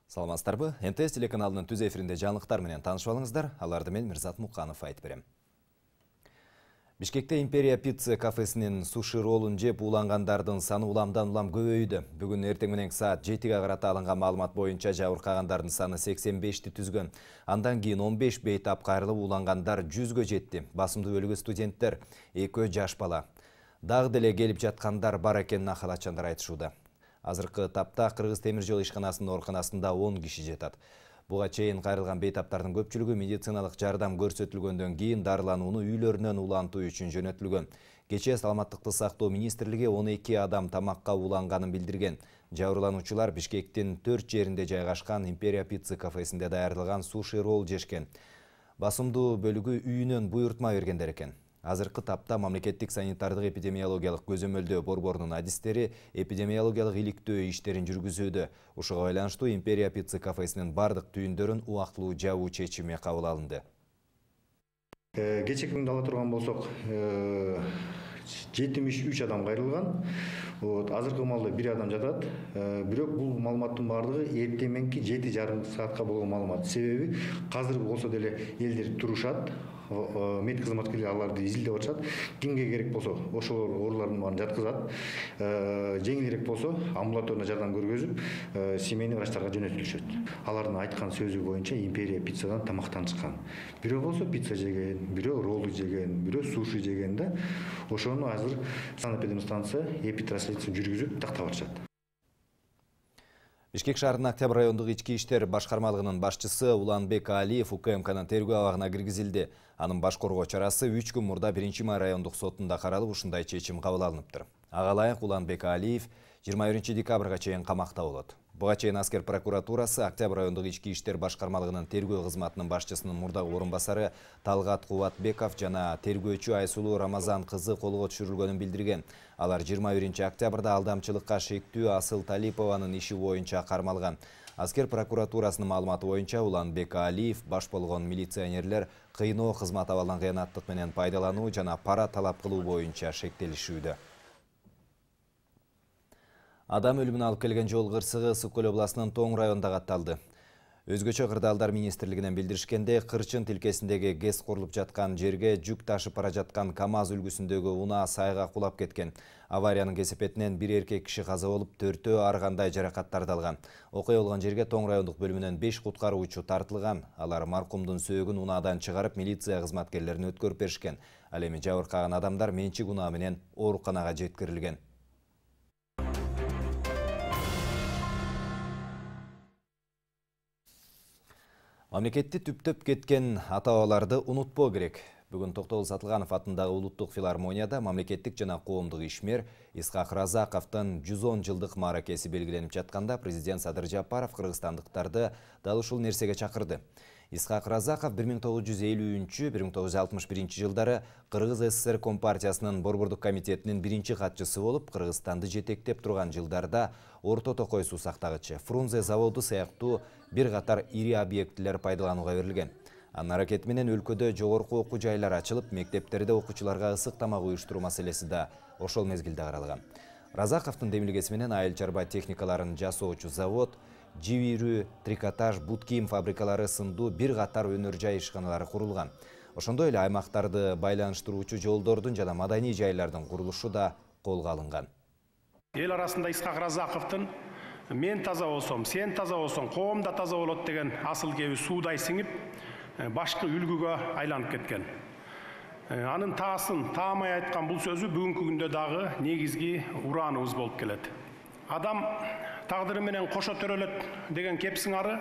Саламатсыздарбы? МТС телеканалынын түз эфиринде жаңылыктар менен таанышып алыңыздар. Аларды мен Мирзат Муканов айтып берем. Бишкекте Империя Pizza кафесинин суши ролун жеп улангандардын саны уламдан-улам көбөйдү. Бүгүн эртең менен саат 7-ге карата алынган маалымат боюнча жабыркагандардын саны 85ти түзгөн. Андан кийин 15 бейтап кайрылып улангандар 100гө жетти. Басымдуу бөлүгү студенттер, 2 жаш бала. Дагы деле келип жаткандар бар экенин ахалатчандар айтышууда. Азыркы тапта Кыргыз темир жол ишканасынын ооруканасында 10 киши жатат. Буга чейин кайрылган бейтаптардын көпчүлүгү медициналык жардам көрсөтүлгөндөн кийин дарыланууну үйлөрүнөн улантуу үчүн жөнөтүлгөн. Кечээ Саламаттыкты сактоо министрлиги 12 адам тамакка уланганын билдирген. Жабырлануучулар Бишкектин 4 жеринде жайгашкан Империя Pizza кафесинде даярдалган суши ролл жешкен. Басымдуу бөлүгү үйүнөн буйртма бергендер экен. Азыркы тапта мамлекеттик санитардык эпидемиологиялык көзөмөлдөө борборунун адистери эпидемиологиялык иликтөө иштерин жүргүзүүдө. Ушуга байланыштуу Империя Pizza кафесинин бардык түйүндөрүн убактылуу жабуу чечими кабыл алынды. Кечээ күндө ала турган болсок, 73 адам кайрылган. Азыркы маалда 1 адам жатат. Бирок бул маалыматтын бардыгы эртең 7:30 саатка болгон маалымат. Себеби азыр болсо деле элдер турушат. Мед кызматкерлери аларды изилдеп атышат. Кимге керек болсо ошолор оорулардын баарын жаткызат. Жеңилирээк болсо амбулаторный жардам көргөзүп, семейный врачтарга жөнөтүлүшөт. Алардын айткан сөзү боюнча Империя Pizzaдан тамактан чыккан. Бирөө болсо пицца жеген, бирөө роллу жеген, бирөө суши жеген да. Ошону азыр санэпидемстанция эпитрасследствие жүргүзүп тактап атышат. Бишкек шаарынын Октябрь райондук ички иштер башкармалыгынын башчысы Уланбек Алиев УКМКнын тергөө абагына киргизилди. Анын баш коргоо чарасы 3 күн мурда 1-май райондук сотунда каралып, ушундай чечим кабыл алыныптыр. Ага ылайык Уланбек Алиев 21 декабрга чейин камакта болот. Буга чейин аскер прокуратурасы Октябрь райондук ички иштер башкармалыгынын тергөө кызматынын башчысынын мурдагы орун басары Талгат Кубатбеков жана тергөөчү Айсулуу Рамазан кызы колго түшүрүлгөнүн билдирген. Алар 21 октябрда алдамчылыкка шектүү Асыл Талипованын иши боюнча кармалган. Аскер прокуратурасынын маалыматы боюнча Уланбек Алиев баш болгон милиционерлер кыйноо, кызмат абалынан кыянаттык менен пайдалануу жана пара талап кылуу боюнча шектелишүүдө. Адам өлүмүнө алып келген жол кырсыгы Ысык Көл областынын Тоң районунда катталды. Өзгөчө кырдаалдар министрлигинен билдиришкенде, Кырчын тилкесиндеги ГЭС курулуп жаткан жерге жүк ташып бара жаткан КАМАЗ үлгүсүндөгү унаа сайга кулап кеткен. Авариянын кесепетинен 1 эркек киши каза болуп, 4-өө ар кандай жаракаттарды алган. Окуя болгон жерге Тоң райондук бөлүмүнөн 5 куткаруучу тартылган. Алар маркумдун сөөгүн унаадан чыгарып, милиция кызматкерлерине өткөрүп беришкен. Ал эми жабыркаган адамдар менчик унаа менен ооруканага жеткирилген. Мамлекетти түптөп кеткен ата-бабаларды унутпоо керек. Бүгүн Токтогул Сатылганов атындагы улуттук филармонияда мамлекеттик жана коомдук ишмер Исхак Разаковдун 110 жылдык мааракеси белгиленип жатканда президент Садыр Жапаров кыргызстандыктарды дал ушул нерсеге чакырды. Исхак Разаков 1953-1961 жылдары Кыргыз СССР Компартиясынын борбордук комитетинин биринчи катчысы болуп, Кыргызстанды жетектеп турган жылдарда Орто Токой суу сактагычы, Фрунзе заводу сыяктуу бир катар ири объектилер пайдаланууга берилген. Анын аракети менен өлкөдө жогорку окуу жайлар ачылып, мектептерде окуучуларга ысык тамак уюштуруу маселеси да ошол мезгилде каралган. Разаковдун демилгеси менен айыл чарба техникаларын жасоочу завод, жибирүү, трикотаж, бут кийим фабрикалары сындуу бир катар өнөр жай ишканалары курулган. Ошондой эле аймактарды байланыштыруучу жолдордун жана маданий жайлардын курулушу да колго алынган. Эл арасында Исхак Разаковдун мен таза болсом, сен таза болсоң, коом да таза болот деген асыл кеби суудай сиңип, башкы үлгүгө айланып кеткен. Анын таасын таамай айткан бул сөзү бүгүнкү күндө дагы негизги урааныбыз болуп келет. Адам тагдыры менен кошо төрөлөт деген кеп сыңары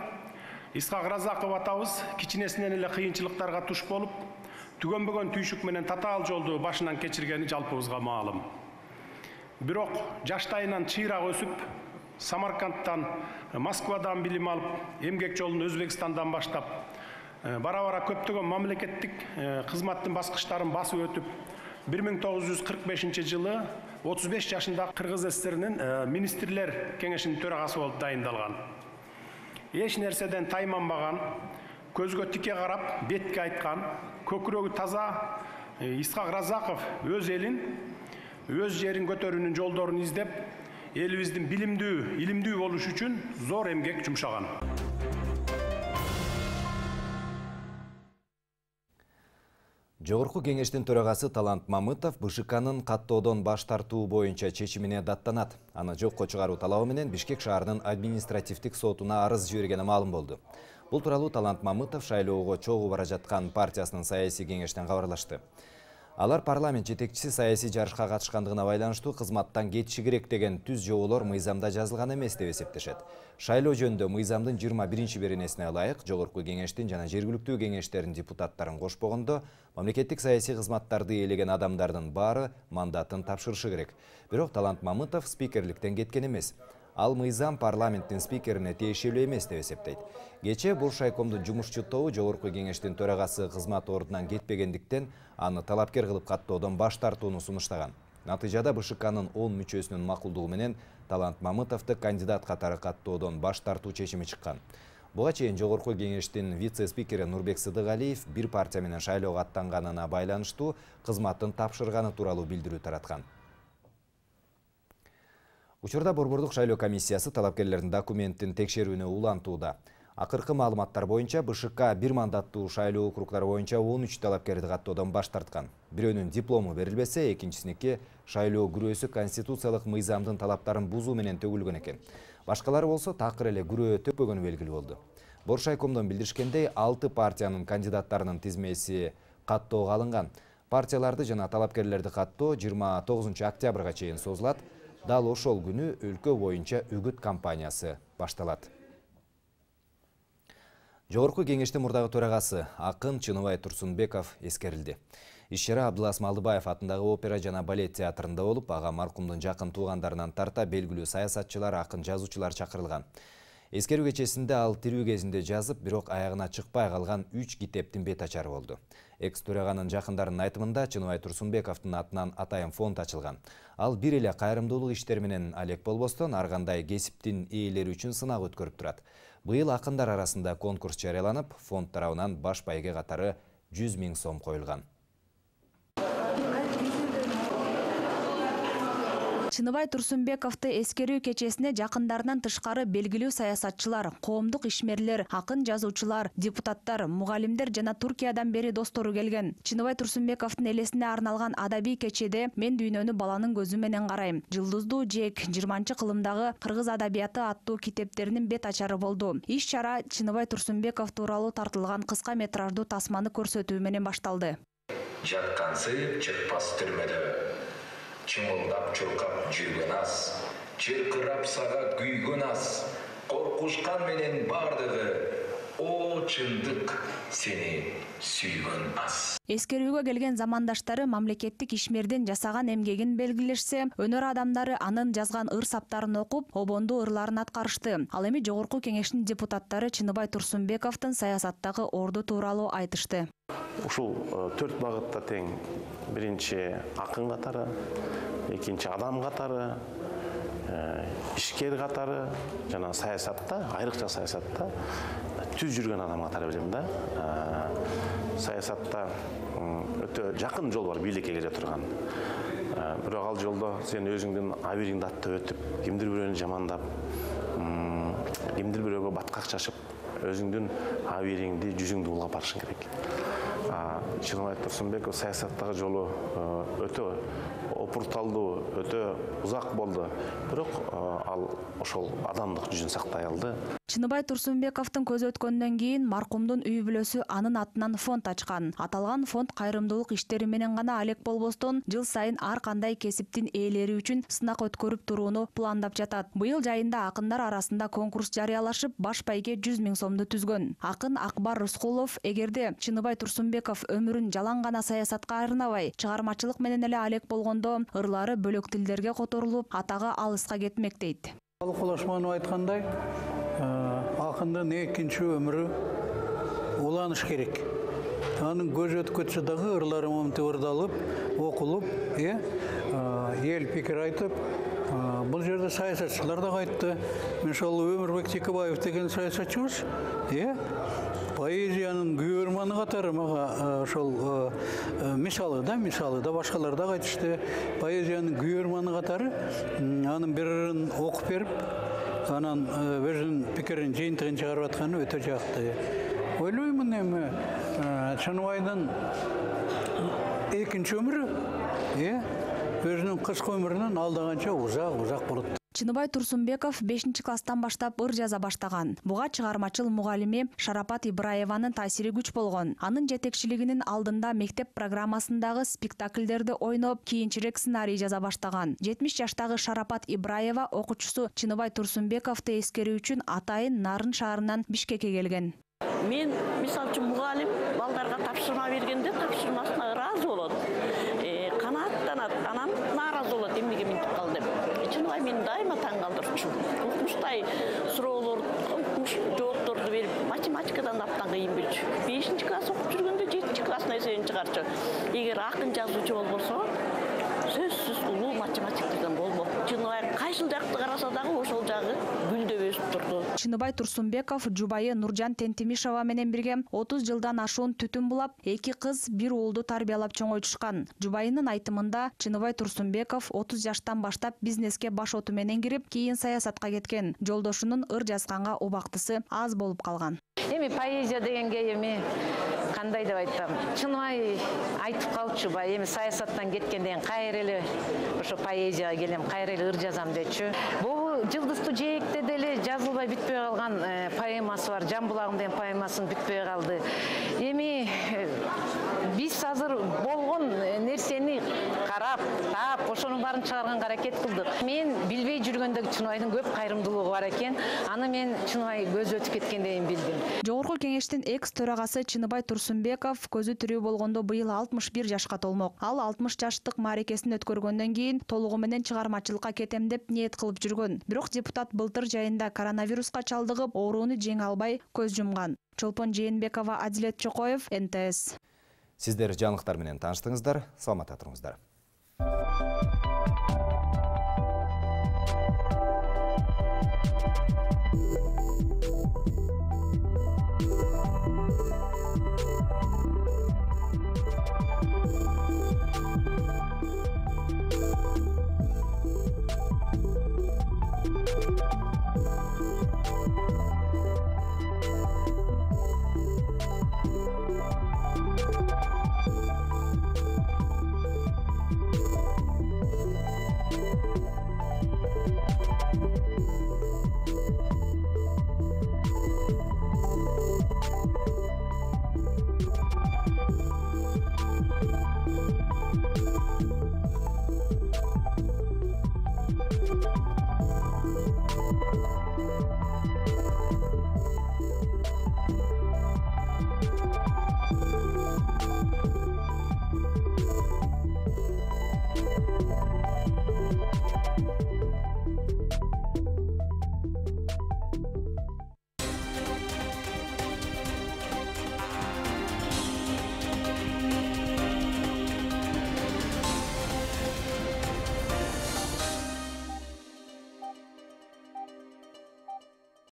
Исхак Разаков атабыз кичинесинен эле кыйынчылыктарга туш болуп, түгөнбөгөн түйшүк менен татаал жолду башынан кечиргени жалпыбызга маалым. Бирок жаштайынан чыйрак өсүп, Самаркандтан, Москвадан билим алып, эмгек жолун Өзбекстандан баштап, бара-бара көптөгөн мамлекеттик кызматтын баскычтарын басып өтүп, 1945 жылы 35 жашында Кыргыз СССРинин министрлер кеңешинин төрагасы болуп дайындалган. Эч нерседен тайманбаган, көзгө тике карап, бетке айткан, көкүрөгү таза Исхак Разаков өз элин, өз жерин көтөрүүнүн жолдорун издеп, элибиздин билимдүү, илимдүү болуш үчүн зор эмгек жумшаган. Жогорку кеңештин төрагасы Талант Мамытов БШКнын каттоодон баш тартуу боюнча чечимине даттанат. Аны жокко чыгаруу талабы менен Бишкек шаарынын административдик сотуна арыз жибергени маалым болду. Бул тууралуу Талант Мамытов шайлоого чогуу бара жаткан партиясынын саясий кеңештен кабарлашты. Алар парламент жетекчиси саясий жарышка катышкандыгына байланыштуу кызматтан кетиши керек деген түз жоболор мыйзамда жазылган эмес деп эсептешет. Шайлоо жөнүндө мыйзамдын 21-беренесине ылайык жогорку кеңештин жана жергиликтүү кеңештердин депутаттарын кошпогондо мамлекеттик саясий кызматтарды ээлеген адамдардын баары мандатын тапшырышы керек. Бирок Талант Мамытов спикерликтен кеткен эмес. Ал мыйзам парламенттин спикерине тиешелүү эмес деп эсептейт. Кечээ Бош райкомдун жумушчу тобу жогорку кеңештин төрагасы кызмат ордунан кетпегендиктен аны талапкер кылып каттоодон баш тартууну сунуштаган. Натыйжада БШКнын 10 мүчөсүнүн макулдугу менен Талант Мамытовду кандидат катары каттоодон баш тартуу чечими чыккан. Буга чейин жогорку кеңештин вице-спикери Нурбек Сыдыгалиев бир партия менен шайлоого аттанганына байланыштуу кызматын тапшырганы тууралуу билдирүү тараткан. Учурда Борбордук шайлоо комиссиясы талапкерлердин документтин текшерүүнү улантууда. Акыркы маалыматтар боюнча БШК бир мандаттуу шайлоо округдары боюнча 13 талапкерди каттоодон баш тарткан. Бирөөнүн диплому берилбесе, экинчисиники шайлоо күрөөсү конституциялык мыйзамдын талаптарын бузуу менен төгүлгөн экен. Башкалары болсо такыр эле күрөө төкпөгөнү белгилүү болду. Бош райкомдон билдиришкендей, 6 партиянын кандидаттарынын тизмеси каттоого алынган. Партияларды жана талапкерлерди каттоо 29 октябрга чейин созулат. Дал ошол күнү өлкө боюнча үгүт кампаниясы башталат. Жогорку кеңештин мурдагы төрагасы акын Чыныбай Турсунбеков эскерилди. Иш-чара Абдылас Малдыбаев атындагы опера жана балет театрында болуп, ага маркумдун жакын туугандарынан тарта белгилүү саясатчылар, акын, жазуучулар чакырылган. Эскерүү кечесинде ал тирүү кезинде жазып, бирок аягына чыкпай калган 3 китептин бет ачары болду. Экс-төраганын жакындарынын айтымында Чыныбай Турсунбековдун атынан атайын фонд ачылган. Ал бир эле кайрымдуулук иштери менен алек болбостон, ар кандай кесиптин ээлери үчүн сынак өткөрүп турат. Быйыл акындар арасында конкурс жарыяланып, фонд тарабынан баш байге катары 100 000 сом коюлган. Чыныбай Турсунбековду эскерүү кечесине жакындарынан тышкары белгилүү саясатчылар, коомдук ишмерлер, акын, жазуучулар, депутаттар, мугалимдер жана Туркиядан бери достору келген. Чыныбай Турсунбековдун элесине арналган адабий кечеде «Мен дүйнөнү баланын көзү менен карайм», «Жылдыздуу жээк», 20-кылымдагы кыргыз адабияты аттуу китептеринин бет ачары болду. Иш-чара Чыныбай Турсунбеков тууралуу тартылган кыска метраждуу тасманы көрсөтүү менен башталды. Жаткансы чыкпас түрмөдө. Чымылдап чуркап жүргөн аз, чыркырап сага күйгөн аз, коркушкан менен бардыгы, о чындык сени сүйгөн аз. Эскерүүгө келген замандаштары мамлекеттик ишмердин жасаган эмгегин белгилешсе, өнөр адамдары анын жазган ыр-саптарын окуп, обондуу ырларын аткарышты. Ал эми жогорку кеңештин депутаттары Чыныбай Турсунбековдун саясаттагы орду тууралуу айтышты. Ушул 4 багытта тең. Биринчи акын катары, экинчи адам катары, ишкер катары, жана саясатта, айрыкча саясатта түз жүргөн адам катары билем да. Саясатта өтө жакын жол бар бийликке келе турган. Бирок ал жолдо сен өзүңдүн абийириңди аттап өтүп, кимдир бирөөнү жамандап, кимдир бирөөгө баткак чачып, өзүңдүн абийириңди, жүзүңдү улгап барышың керек. Чыныбай Турсунбеков саясаттагы жолу өтө опурталдуу, өтө узак болду. Бирок ал ошол адамдык жүзүн сактай алды. Чыныбай Турсунбековдун көз өткөндөн кийин маркумдун үй бүлөсү анын атынан фонд ачкан. Аталган фонд кайрымдуулук иштери менен гана алек болбостон, жыл сайын ар кандай кесиптин ээлери үчүн сынак өткөрүп турууну пландап жатат. Быйыл жайында акындар арасында конкурс жарыялашып, баш байге 100 000 сомду түзгөн. Акын Акбар Рыскулов эгерде Чыныбай Турсунбеков өмүрүн жалаң гана саясатка арнабай, чыгармачылык менен эле алек болгондо, ырлары бөлөк тилдерге которулуп, атагы алыска кетмек дейт. Кулашманов айткандай, акындын экинчи өмүрү уланыш керек. Анын көз өткөчү дагы ырлары момунтип ырдалып, окулуп, эл пикир айтып, бул жерде саясатчылар да айтты. Мисалы Өмүрбек Текебаев деген саясатчыбыз, поэзиянын күйөрманы катары мага ошол мисалы да башкалар да айтышты. Поэзиянын күйөрманы катары анын бирин окуп берип, анан өзүнүн пикирин жыйынтыгын чыгарып атканы өтө жакты. Ойлоймун эми Чыныбайдын экинчи өмүрү өзүнүн кыска өмүрүнөн алдаганча узак болот. Чыныбай Турсунбеков 5-класстан баштап ыр жаза баштаган. Буга чыгармачыл мугалими Шарапат Ибраеванын таасири күч болгон. Анын жетекчилигинин алдында мектеп программасындагы спектакльдерди ойноп, кийинчерээк сценарий жаза баштаган. 70 жаштагы Шарапат Ибраева окуучусу Чыныбай Турсунбековду эскерүү үчүн атайын Нарын шаарынан Бишкекке келген. Мен мисалы үчүн мугалим балдарга тапшырма бергенде тапшырмасына ыраазы болот. Канааттанат, анан нааразы болот, эмнеге минтип кал деп. Чыныбай мени дайыма таң калтырчу. Укмуштай суроолор, жоопторду берип, математикадан абдан кыйын билчү. 5-класс окуп жүргөндө 7-класстын эсебин чыгарчу. Эгер акын жазуучу болбосо, сөзсүз улуу математиктерден болбок. Чыныбай кайсыл жакты караса дагы ошол жагы гүлдөп өсүп турду. Чыныбай Турсунбеков жубайы Нуржан Тентимишова менен бирге 30 жылдан ашуун түтүн булап, 2 кыз, 1 уулду тарбиялап чоңойтушкан. Жубайынын айтымында Чыныбай Турсунбеков 30 жаштан баштап бизнеске баш оту менен кирип, кийин саясатка кеткен. Жолдошунун ыр жазганга убактысы аз болуп калган. Эми поэзия дегенге эми кандай деп айтсам, Чыныбай айтып калчу, эми саясаттан кеткенден кайра эле ошо поэзияга келем, кайра эле ыр жазам дечү. Бул Жылдызтуу жээкте деле жазылбай бүтпөй калган поэмасы бар. Жан булагым деген поэмасын бүтпөй калды. Эми биз азыр болгон нерсени карап, таап, ошонун баарын чыгарганга аракет кылдык. Мен билбей жүргөндө Чыныбайдын көп кайрымдуулугу бар экен. Аны мен Чыныбай көзү өтүп кеткенден билдим. Жогорку кеңештин экс-төрагасы Чыныбай Турсунбеков көзү тирүү болгондо быйыл 61 жашка толмок. Ал 60 жаштык мааракесин өткөргөндөн кийин толугу менен чыгармачылыкка кетем деп ниет кылып жүргөн. Бирок депутат былтыр жайында коронавируска чалдыгып, оорууну жеңе албай көз жумган. Чолпон Жээнбекова, Адилет Чокоев, НТС. Сиздер жаңылыктар менен тааныштыңыздар. Саламатта туруңуздар.